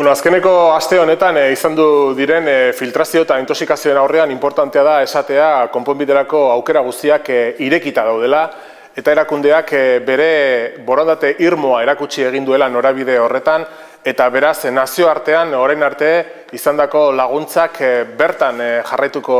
Azkeneko aste honetan izan du diren filtrazio eta intoxikazioen aurrean importantea da esatea konponbiderako aukera guztiak irekita daudela eta erakundeak bere borondate irmoa erakutsi egin duela norabide horretan eta beraz nazioartean orain arte izandako laguntzak bertan jarraituko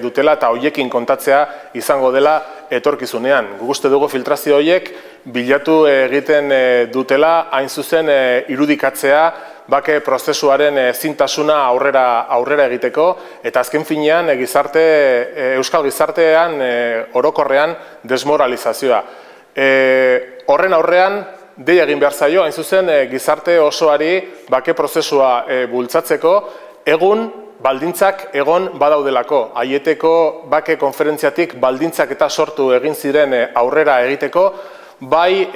dutela eta hoiekin kontatzea izango dela etorkizunean. Guk uste dugu filtrazio horiek bilatu egiten dutela hain zuzen irudikatzea bake prozesuaren zintasuna aurrera egiteko eta azken finean euskal gizartean orokorrean desmoralizazioa. Horren aurrean deia egin behar zaio, hain zuzen gizarte osoari bake prozesua bultzatzeko egun baldintzak egon badaudelako. Aieteko bake konferentziatik baldintzak eta sortu egin ziren aurrera egiteko, bai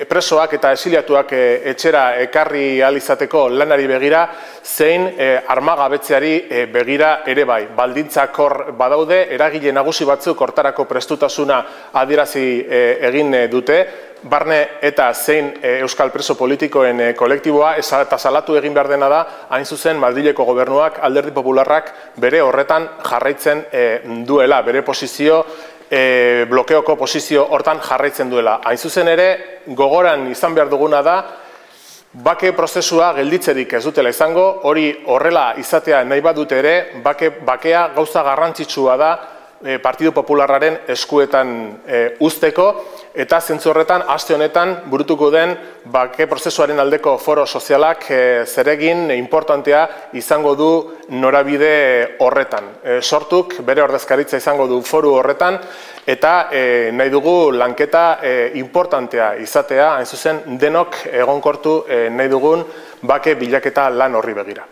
presoak eta exiliatuak etxera ekarri ahal izateko lanari begira, zein armagabetzeari begira ere bai. Baldintzak hor badaude, eragile nagusi batzuk hortarako prestutasuna adierazi egin dute, barne eta zein euskal preso politikoen kolektiboa eta salatu egin behar dena da, hain zuzen Madrileko gobernuak, Alderdi Popularrak bere horretan jarraitzen duela, bere posizio blokeoko posizio hortan jarraitzen duela. Hain zuzen ere, gogoran izan behar duguna da, bake prozesua gelditzerik ez dutela izango, hori horrela izatea nahi badute ere, bakea gauza garrantzitsua da Partidu Popularraren eskuetan uzteko, eta zentzu horretan, aste honetan, burutuko den bake prozesuaren aldeko foro sozialak zeregin importantea izango du norabide horretan. Sortuk bere ordezkaritza izango du foru horretan, eta nahi dugu lanketa importantea izatea, hain zuzen denok egonkortu nahi dugun bake bilaketa lan horri begira.